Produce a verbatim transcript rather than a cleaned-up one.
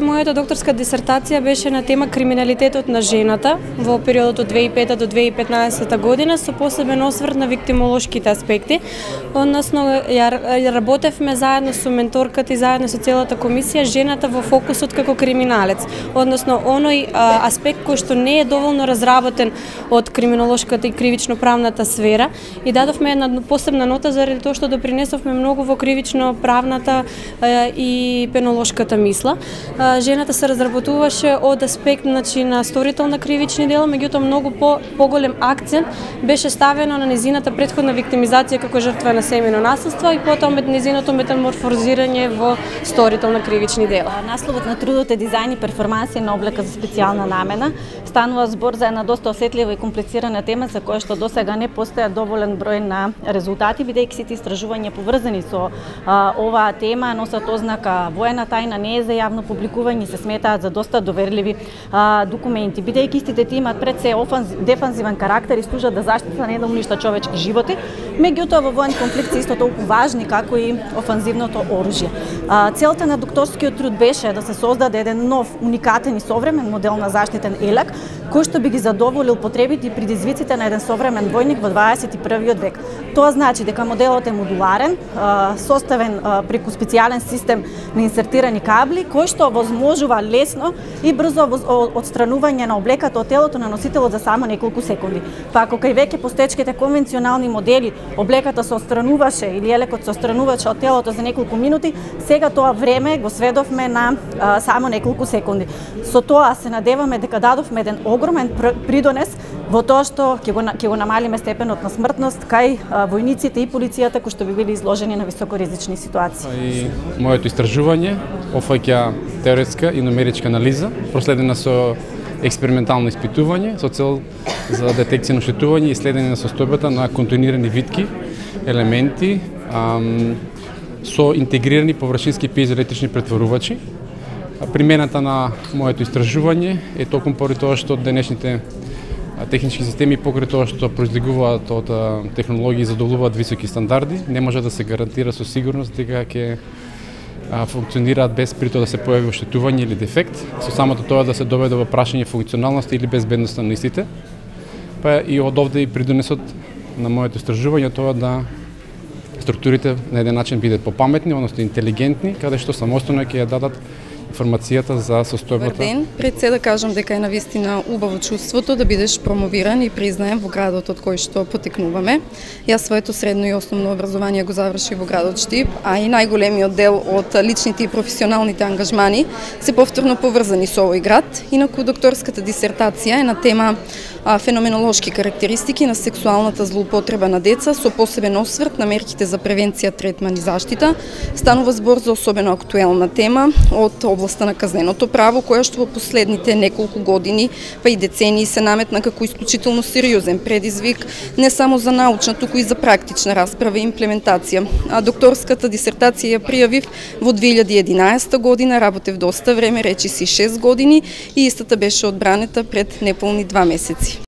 Мојата докторска дисертација беше на тема криминалитетот на жената во периодот од две илјади и пета до две илјади и петнаесета година со посебен осврт на виктимолошките аспекти. Односно, ја работевме заедно со менторката и заедно со целата комисија жената во фокусот како криминалец. Односно, оној а, аспект кој што не е доволно разработен од криминолошката и кривично-правната сфера и дадовме една посебна нота заради тоа што допринесовме многу во кривично-правната а, и пенолошката мисла. Жената се разработуваше од аспект значи, на сторител на кривични дела, меѓутоа многу по, поголем акцент беше ставено на незината претходна виктимизација како жртва на семејно насилство и потоа незиното метаморфозирање во сторител на кривични дела. Насловот на трудот е дизајн и перформансија на облека за специјална намена. Станува збор за една доста осетлива и комплицирана тема за која што досега не постоја доволен број на резултати, бидејќи сите истражувања поврзани со а, оваа тема носат ознака воена тајна, не е за јавно публикување, се сметаат за доста доверливи а, документи. Бидејќи истите ти имаат пред се офанзив, дефанзивен карактер и служат да заштита не да уништа човечки животи, меѓутоа во воен конфликт се исто толку важни како и офанзивното оружје. А, целта на докторскиот труд беше да се создаде еден нов, уникатен и современ модел на заштитен елек, кој што би ги задоволил потребите и предизвиците на еден современ војник во дваесет и првиот век. Тоа значи дека моделот е модуларен, а, составен а, преку специјален систем на инсертирани кабли, кој што возможува лесно и брзо отстранување на облеката од телото на носителот за само неколку секунди. Па ако кај веќе постечките конвенционални модели облеката се отстрануваше или елекот се отстрануваше од телото за неколку минути, сега тоа време го сведовме на а, само неколку секунди. Со тоа се надеваме дека дадовме еден огромен придонес во тоа што ќе го ќе го намалиме степенот на смртност кај а, војниците и полицијата кои што би били изложени на високоризични ситуации. И моето истражување офаќа теоретска и нумеричка анализа, проследена со експериментално испитување со цел за детекција на оштетување и следење на состојбата на континуирани витки, елементи ам, со интегрирани површински пиезоелектрични претворувачи. Примената на моето истражување е токму поради тоа што денешните технички системи покрај тоа што произлегуваат од технологии и задоволуваат високи стандарди, не може да се гарантира со сигурност дека ќе функционираат без при тоа да се појави оштетување или дефект, со самото тоа да се доведе во прашање функционалност или безбедноста на истите. Па и од овде и придонесот на моето истражување тоа да структурите на еден начин бидат попаметни, односно интелигентни, каде што самостојно ќе ја дадат информацијата за состојбата. Добар ден, пред се да кажам дека е навистина убаво чувството да бидеш промовиран и признаен во градот од кој што потекнуваме. Јас своето средно и основно образование го завршив во градот Штип, а и најголемиот дел од личните и професионалните ангажмани се повторно поврзани со овој град. Инаку докторската дисертација е на тема а, феноменолошки карактеристики на сексуалната злоупотреба на деца со посебен осврт на мерките за превенција, третман и заштита. Станува збор за особено актуелна тема од областа на казненото право, која што во последните неколку години, па и децении се наметна како исклучително сериозен предизвик не само за научна, туку и за практична расправа и имплементација. А докторската дисертација ја пријавив во две илјади и единаесета година, работев доста време, речиси шест години и истата беше одбранета пред неполни два месеци.